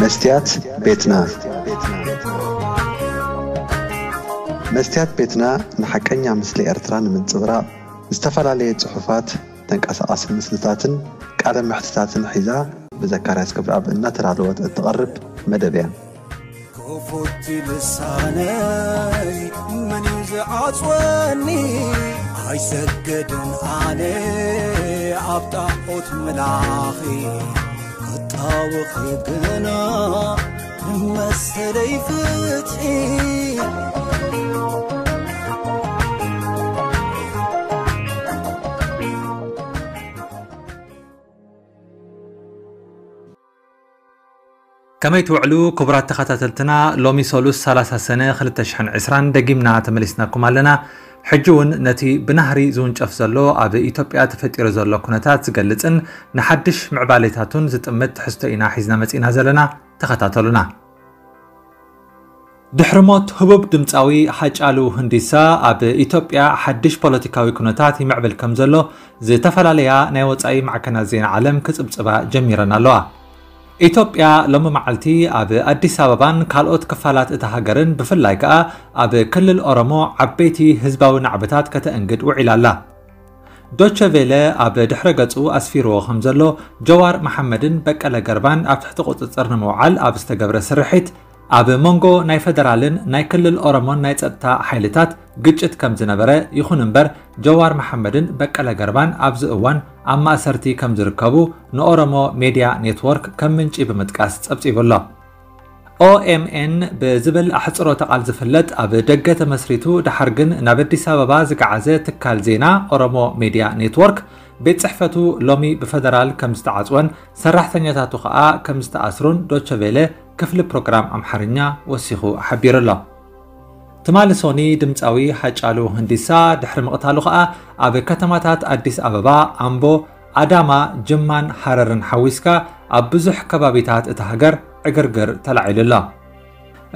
መስትያት ቤትና። መስትያት ቤትና ንሓቀኛ ምስሊ ኤርትራ ንምንጽብራቕ ዝተፈላለየ ጽሑፋት፣ ተንቀሳቓሲ ምስልታትን ቃለ መሕትታትን ሒዛ ብዘካርያስ ክብረኣብ እናተዳለወት እትቐርብ መደብ እያ። ክፉት ልሳነይ መን እዩ ዝዓጽወኒ? ኣይሰገድን ኣነ ኣብ ጣዖት ምላኺ፣ ክጣወኺ ግና ንመሰለይ ፍትሒ። ከመይ ትውዕሉ ክቡራት ተኸታተልትና? ሎሚ ሰሉስ ሰላሳ ሰነ ክልተ ሽሕን ዕስራን ደጊምና ተመሊስናኩም ኣለና። ሕጂ እውን ነቲ ብናህሪ ዝውንጨፍ ዘሎ ኣብ ኢትዮጵያ ተፈጢሩ ዘሎ ኩነታት ዝገልጽን ንሓድሽ ምዕባሌታቱን ዝጥምት ትሕዝቶ ኢና ሒዝና መጺእና ዘለና። ተኸታተሉና። ድሕሪ ሞት ህቡብ ድምጻዊ ሃጫሉ ሁንዲሳ ኣብ ኢትዮጵያ ሓድሽ ፖለቲካዊ ኩነታት ይምዕብል ከም ዘሎ ዝተፈላለያ ናይ ወጻኢ ማዕከናት ዜና ዓለም ክጽብጽባ ጀሚረን ኣለዋ። ኢትዮጵያ ሎሚ መዓልቲ ኣብ ኣዲስ ኣበባን ካልኦት ክፋላት እታ ሃገርን ብፍላይ ከኣ ኣብ ክልል ኦሮሞ ዓበይቲ ህዝባዊ ናዕብታት ከተእንግድ ውዒላ ኣላ። ዶቸ ቬለ ኣብ ድሕረ ገጹ ኣስፊርዎ ከም ዘሎ ጀዋር መሓመድን በቀለ ገርባን ኣብ ትሕቲ ቁጽጽር ንምውዓል ኣብ ዝተገብረ ስርሒት ኣብ መንጎ ናይ ፈደራልን ናይ ክልል ኦሮሞን ናይ ጸጥታ ሓይልታት ግጭት ከም ዝነበረ፣ ይኹን እምበር ጀዋር መሓመድን በቀለ ገርባን ኣብዚ እዋን ኣብ ማእሰርቲ ከም ዝርከቡ ንኦሮሞ ሜድያ ኔትወርክ ከም ምንጪ ብምጥቃስ ጸብጺቡ ኣሎ። ኦኤምኤን ብዝብል ኣሕጽሮተ ቃል ዝፍለጥ ኣብ ደገ ተመስሪቱ ደሓር ግን ናብ ኣዲስ ኣበባ ዝገዓዘ ትካል ዜና ኦሮሞ ሜድያ ኔትወርክ ቤት ጽሕፈቱ ሎሚ ብፈደራል ከም ዝተዓጽወን ሰራሕተኛታቱ ከኣ ከም ዝተኣስሩን ዶቸ ቬለ ክፍሊ ፕሮግራም ኣምሓርኛ ወሲኹ ሓቢሩ ኣሎ። ትማሊ ሶኒ ድምጻዊ ሃጫሉ ሁንዲሳ ድሕሪ ምቕታሉ ከኣ ኣብ ከተማታት ኣዲስ ኣበባ፣ ኣምቦ፣ ኣዳማ፣ ጅማን ሃረርን ሓዊስካ ኣብ ብዙሕ ከባቢታት እታ ሃገር ዕግርግር ተላዒሉ ኣሎ።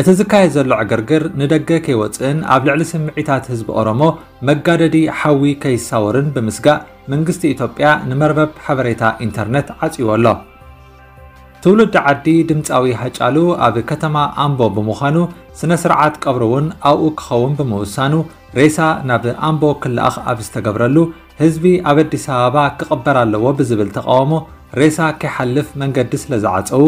እቲ ዝካየድ ዘሎ ዕግርግር ንደገ ከይወጽእን ኣብ ልዕሊ ስምዒታት ህዝቢ ኦሮሞ መጋደዲ ሓዊ ከይሳወርን ብምስጋእ መንግስቲ ኢትዮጵያ ንመርበብ ሓበሬታ ኢንተርነት ዓጽይዎ ኣሎ። ትውልዲ ዓዲ ድምጻዊ ሃጫሉ ኣብ ከተማ ኣምቦ ብምዃኑ ስነ ስርዓት ቀብሩ እውን ኣብኡ ክኸውን ብምውሳኑ ሬሳ ናብ ኣምቦ ክለኣኽ ኣብ ዝተገብረሉ ህዝቢ ኣብ ኣዲስ ኣበባ ክቕበር ኣለዎ ብዝብል ተቃውሞ ሬሳ ከይሓልፍ መንገዲ ስለ ዝዓጸዉ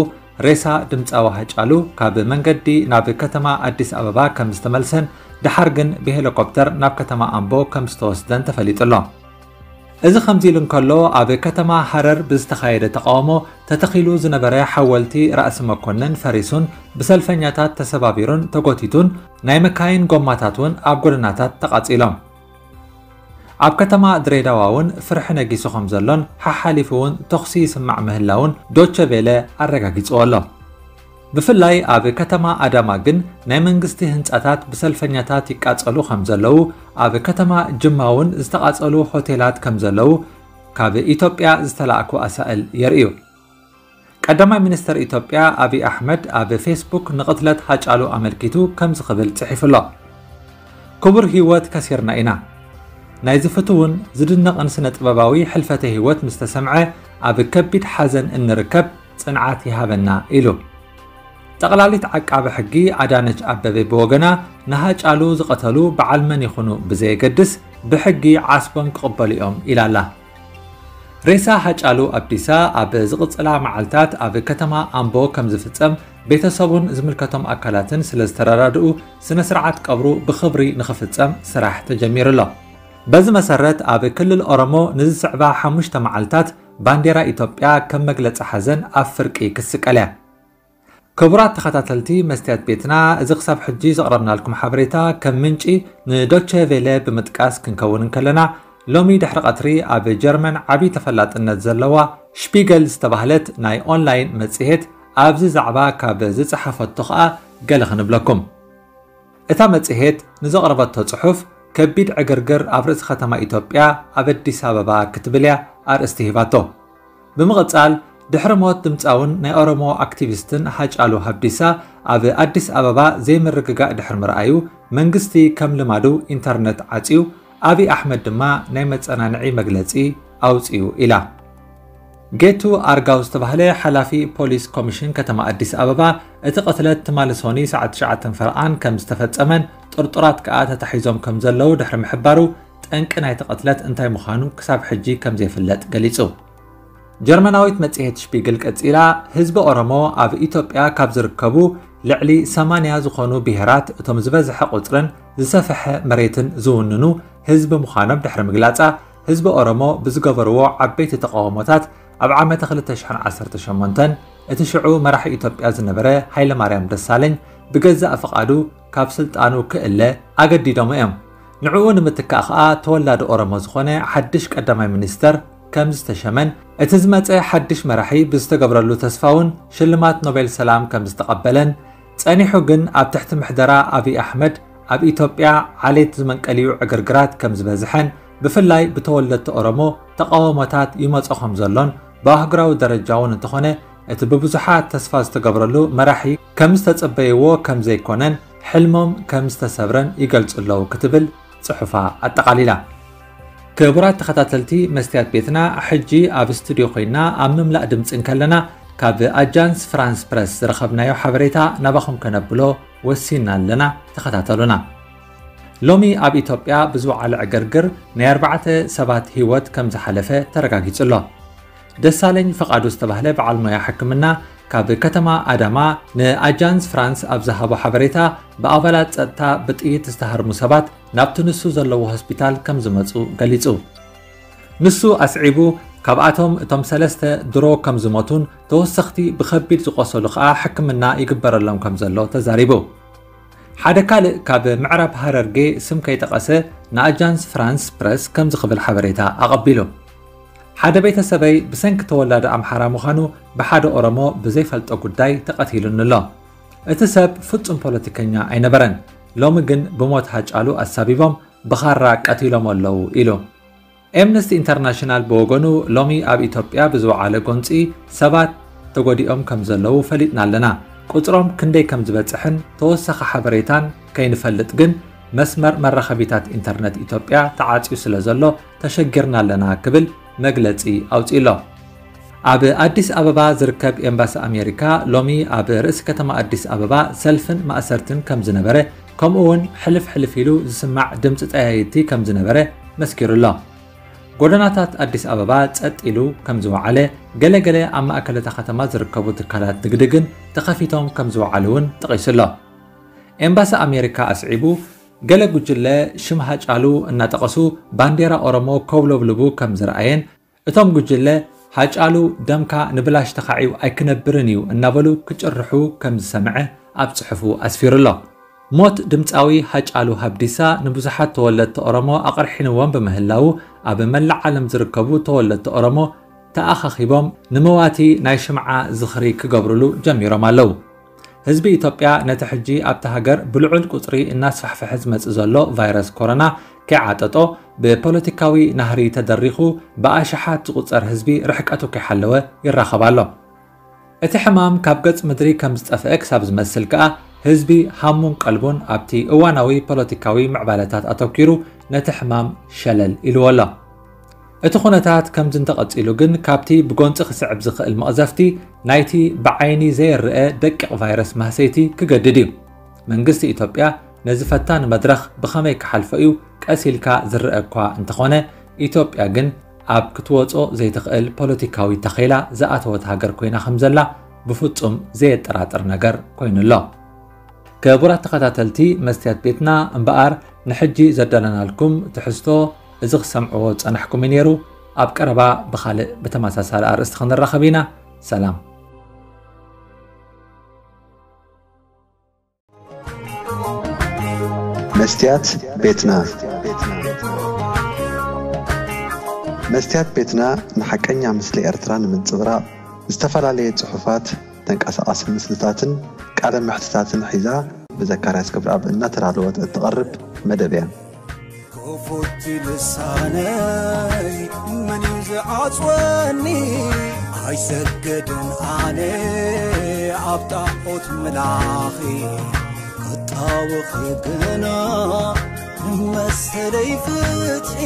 ሬሳ ድምጻዊ ሃጫሉ ካብ መንገዲ ናብ ከተማ ኣዲስ ኣበባ ከም ዝተመልሰን ደሓር ግን ብሄሊኮፕተር ናብ ከተማ ኣምቦ ከም ዝተወስደን ተፈሊጡ ኣሎ። እዚ ከምዚ ኢሉ እንከሎ ኣብ ከተማ ሃረር ብዝተኻየደ ተቃውሞ ተተኺሉ ዝነበረ ሓወልቲ ራእሲ መኮንን ፈሪሱን ብሰልፈኛታት ተሰባቢሩን ተጎቲቱን ናይ መካይን ጎማታት እውን ኣብ ጎደናታት ተቃጺሎም። ኣብ ከተማ ድሬዳዋ እውን ፍርሒ ነጊሱ ከም ዘሎን ሓሓሊፉ እውን ተኹሲ ይስማዕ ምህላውን ዶቸ ቬለ ኣረጋጊጽዎ ኣሎ። ብፍላይ ኣብ ከተማ ኣዳማ ግን ናይ መንግስቲ ህንጻታት ብሰልፈኛታት ይቃጸሉ ከም ዘለዉ፣ ኣብ ከተማ ጅማ እውን ዝተቃጸሉ ሆቴላት ከም ዘለዉ ካብ ኢትዮጵያ ዝተላእኩ ኣሳእል የርእዩ። ቀዳማይ ሚኒስተር ኢትዮጵያ ኣብይ ኣሕመድ ኣብ ፌስቡክ ንቕትለት ሃጫሉ ኣመልኪቱ ከምዚ ክብል ጽሒፉ ኣሎ። ክቡር ህይወት ከሲርና ኢና። ናይዚ ፍቱውን ዝድነቕን ስነ ጥበባዊ ሕልፈተ ህይወት ምስ ተሰምዐ ኣብ ከቢድ ሓዘን እንርከብ፣ ጽንዓት ይሃበና ኢሉ። ጠቕላሊት ዓቃቢ ሕጊ ኣዳነች ኣበቤ ብወገና ንሃጫሉ ዝቐተሉ በዓል መን ይኹኑ ብዘየገድስ ብሕጊ ዓስቦም ክቕበሉ እዮም ኢላ ኣላ። ሬሳ ሃጫሉ ኣብዲሳ ኣብ ዝቕጽላ መዓልታት ኣብ ከተማ ኣምቦ ከም ዝፍጸም ቤተሰቡን ዝምልከቶም ኣካላትን ስለ ዝተረዳድኡ ስነ ስርዓት ቀብሩ ብኽብሪ ንኽፍጸም ስራሕ ተጀሚሩ ኣሎ። በዚ መሰረት ኣብ ክልል ኦሮሞ ንዝስዕባ ሓሙሽተ መዓልታት ባንዴራ ኢትዮጵያ ከም መግለጺ ሓዘን ኣብ ፍርቂ ክስቀል እያ። ክቡራት ተኸታተልቲ መስትያት ቤትና፣ እዚ ክሳብ ሕጂ ዘቕረብናልኩም ሓበሬታ ከም ምንጪ ንዶቸ ቬለ ብምጥቃስ ክንከውን እንከለና፣ ሎሚ ድሕሪ ቀትሪ ኣብ ጀርመን ዓቢ ተፈላጥነት ዘለዋ ሽፒገል ዝተባህለት ናይ ኦንላይን መጽሔት ኣብዚ ዛዕባ ካብ ዝጸሓፈቶ ኸኣ ገለ ክንብለኩም። እታ መጽሔት ንዘቕረበቶ ጽሑፍ፣ ከቢድ ዕግርግር ኣብ ርእሲ ከተማ ኢትዮጵያ ኣብ ኣዲስ ኣበባ ክትብል እያ ኣርእስቲ ሂባቶ። ብምቕጻል፣ ድሕሪ ሞት ድምጻውን ናይ ኦሮሞ ኣክቲቪስትን ሃጫሉ ሃብዲሳ ኣብ ኣዲስ ኣበባ ዘይምርግጋእ ድሕሪ ምርኣዩ፣ መንግስቲ ከም ልማዱ ኢንተርነት ዓጽዩ፣ ኣብይ ኣሕመድ ድማ ናይ መጸናንዒ መግለጺ ኣውጺኡ ኢላ። ጌቱ ኣርጋው ዝተባህለ ሓላፊ ፖሊስ ኮሚሽን ከተማ ኣዲስ ኣበባ፣ እቲ ቅትለት ትማሊ ሶኒ ሰዓት ትሽዓተ ፈረቓን ከም ዝተፈጸመን ጥርጡራት ከኣ ተታሒዞም ከም ዘለዉ ድሕሪ ምሕባሩ፣ ጠንቂ ናይቲ ቅትለት እንታይ ምዃኑ ክሳብ ሕጂ ከም ዘይፍለጥ ገሊጹ። ጀርመናዊት መጽሔት ሽፒግል ቀጺላ፣ ህዝቢ ኦሮሞ ኣብ ኢትዮጵያ ካብ ዝርከቡ ልዕሊ ሰማንያ ዝኾኑ ብሄራት እቶም ዝበዝሐ ቁጽርን ዝሰፍሐ መሬትን ዝውንኑ ህዝቢ ምዃኖም ድሕሪ ምግላጻ፣ ህዝቢ ኦሮሞ ብዝገበርዎ ዓበይቲ ተቃውሞታት ኣብ ዓመተ ክልተ ሽሕን ዓሰርተ ሸሞንተን እቲ ሽዑ መራሒ ኢትዮጵያ ዝነበረ ሃይለማርያም ደሳለኝ ብገዛእ ፍቓዱ ካብ ስልጣኑ ክእለ ኣገዲዶሞ እዮም። ንዕኡ ንምትካእ ከኣ ተወላዲ ኦሮሞ ዝኾነ ሓድሽ ቀዳማይ ሚኒስተር ከም ዝተሸመን፣ እቲ ዝመጸ ሓድሽ መራሒ ብዝተገብረሉ ተስፋ እውን ሽልማት ኖቤል ሰላም ከም ዝተቐበለን፣ ጸኒሑ ግን ኣብ ትሕቲ ምሕደራ ኣብይ ኣሕመድ ኣብ ኢትዮጵያ ዓሌት ዝመንቀልዩ ዕግርግራት ከም ዝበዝሐን፣ ብፍላይ ብተወለድቲ ኦሮሞ ተቃውሞታት ይመጾ ከም ዘሎን፣ ብኣህጉራዊ ደረጃ እውን እንተኾነ እቲ ብብዙሓት ተስፋ ዝተገብረሉ መራሒ ከም ዝተጸበይዎ ከም ዘይኮነን፣ ሕልሞም ከም ዝተሰብረን ይገልጹ ኣለዉ ክትብል ጽሑፋ ኣጠቓሊላ። ክቡራት ተኸታተልቲ መስትያት ቤትና፣ ሕጂ ኣብ ስቱድዮ ኮይና ኣብ ምምላእ ድምጺ እንከለና፣ ካብ ኣጃንስ ፍራንስ ፕረስ ዝረኸብናዮ ሓበሬታ ናባኹም ከነብሎ ወሲና ኣለና። ተኸታተሉና። ሎሚ ኣብ ኢትዮጵያ ብዝወዓለ ዕግርግር ናይ ኣርባዕተ ሰባት ህይወት ከም ዝሓለፈ ተረጋጊጹ ኣሎ። ደሳለኝ ፍቓዱ ዝተባህለ በዓል ሞያ ሕክምና ካብ ከተማ ኣዳማ ንኣጃንስ ፍራንስ ኣብ ዝሃቦ ሓበሬታ፣ ብኣባላት ጸጥታ ብጥይት ዝተሃርሙ ሰባት ናብቲ ንሱ ዘለዎ ሆስፒታል ከም ዝመጹ ገሊጹ። ንሱ ኣስዒቡ፣ ካብኣቶም እቶም ሰለስተ ድሮ ከም ዝሞቱን ተወሰኽቲ ብኸቢድ ዝቖሰሉ ከኣ ሕክምና ይግበረሎም ከም ዘሎ ተዛሪቡ። ሓደ ካልእ ካብ ምዕራብ ሃረርጌ ስም ከይጠቐሰ ንኣጃንስ ፍራንስ ፕረስ ከምዚ ክብል ሓበሬታ ኣቐቢሉ። ሓደ ቤተሰበይ ብሰንኪ ተወላዲ ኣምሓራ ምዃኑ ብሓደ ኦሮሞ ብዘይፈልጦ ጉዳይ ተቐቲሉኒ ኣሎ። እቲ ሰብ ፍጹም ፖለቲከኛ ኣይነበረን። ሎሚ ግን ብሞት ሃጫሉ ኣሳቢቦም ብኻራ ቀቲሎም ኣለዉ ኢሉ። ኤምነስቲ ኢንተርናሽናል ብወገኑ ሎሚ ኣብ ኢትዮጵያ ብዝወዓለ ጎንጺ ሰባት ተጎዲኦም ከም ዘለዉ ፈሊጥና ኣለና። ቁጽሮም ክንደይ ከም ዝበጽሕን ተወሳኺ ሓበሬታን ከይንፈልጥ ግን መስመር መራኸቢታት ኢንተርነት ኢትዮጵያ ተዓጽዩ ስለ ዘሎ ተሸጊርና ኣለና ክብል መግለጺ ኣውጺኡ ኣሎ። ኣብ ኣዲስ ኣበባ ዝርከብ ኤምባሲ ኣሜሪካ ሎሚ ኣብ ርእሲ ከተማ ኣዲስ ኣበባ ሰልፍን ማእሰርትን ከም ዝነበረ፣ ከምኡ እውን ሕልፍ ሕልፍ ኢሉ ዝስማዕ ድምፂ ጠያይቲ ከም ዝነበረ መስኪሩ ኣሎ። ጎደናታት ኣዲስ ኣበባ ጸጥ ኢሉ ከም ዝወዓለ፣ ገለገለ ኣብ ማእከል እታ ከተማ ዝርከቡ ትካላት ንግዲ ግን ተኸፊቶም ከም ዝወዓሉ እውን ጠቒሱ ኣሎ። ኤምባሲ ኣሜሪካ ኣስዒቡ፣ ገለ ጉጅለ ሽም ሃጫሉ እናጠቐሱ ባንዴራ ኦሮሞ ከውለብልቡ ከም ዝረኣየን፣ እቶም ጉጅለ ሃጫሉ ደምካ ንብላሽ ተኻዒው ኣይክነብርን እዩ እናበሉ ክጭርሑ ከም ዝሰምዐ ኣብ ጽሑፉ ኣስፊሩ ኣሎ። ሞት ድምጻዊ ሃጫሉ ሃብዲሳ ንብዙሓት ተወለድቲ ኦሮሞ ኣቕርሒንዎም ብምህላዉ፣ ኣብ መላእ ዓለም ዝርከቡ ተወለድቲ ኦሮሞ ተኣኻኺቦም ንመዋቲ ናይ ሽምዓ ዝኽሪ ክገብሩሉ ጀሚሮም ኣለዉ። ህዝቢ ኢትዮጵያ ነቲ ሕጂ ኣብታ ሃገር ብልዑል ቁጽሪ እናስፋሕፈሐ ዝመጽእ ዘሎ ቫይረስ ኮሮና ከይዓጠጦ፣ ብፖለቲካዊ ናህሪ ተደሪኹ ብኣሽሓት ዝቑጸር ህዝቢ ርሕቀቱ ከይሓለወ ይራኸብ ኣሎ። እቲ ሕማም ካብ ገጽ ምድሪ ከም ዝጠፍአ ክሳብ ዝመስል ከኣ፣ ህዝቢ ሃሙን ቀልቡን ኣብቲ እዋናዊ ፖለቲካዊ ምዕባለታት ኣተኲሩ ነቲ ሕማም ሸለል ኢልዎ ኣሎ። እቲ ኩነታት ከምዚ እንተቐጺሉ ግን፣ ካብቲ ብጎንጺ ክስዕብ ዝኽእል መቕዘፍቲ ናይቲ ብዓይኒ ዘይርአ ደቂቕ ቫይረስ ማህሰይቲ ክገድድ እዩ። መንግስቲ ኢትዮጵያ ነዚ ፈታኒ መድረኽ ብኸመይ ክሓልፎ እዩ ቀስ ኢልካ ዝረአ እኳ እንተኾነ፣ ኢትዮጵያ ግን ኣብ ክትወጾ ዘይትኽእል ፖለቲካዊ ተኼላ ዝኣተወት ሃገር ኮይና ከም ዘላ ብፍጹም ዘየጠራጥር ነገር ኮይኑ ኣሎ። ክቡራት ተኸታተልቲ መስትያት ቤትና፣ እምበኣር ንሕጂ ዘዳለናልኩም ትሕዝቶ እዚ ክሰምዕዎ ዝጸናሕኩም እዩ ነይሩ። ኣብ ቀረባ ብኻልእ ብተመሳሳሊ ኣርእስቲ ክንራኸብ ኢና። ሰላም። መስትያት ቤትና። መስትያት ቤትና ንሓቀኛ ምስሊ ኤርትራ ንምንጽብራቕ ዝተፈላለየ ጽሑፋት፣ ተንቀሳቓሲ ምስልታትን ቃለ መሕትታትን ሒዛ ብዘካርያስ ገብረኣብ እናተዳለወት እትቐርብ መደብ እያ። ክፉት ልሳነይ መን እዩ ዝዓጽወኒ? ኣይሰግድን ኣነ ኣብ ጣዖት ምላኺ፣ ክጣወኺ ግና መሰለይ ፍትሒ።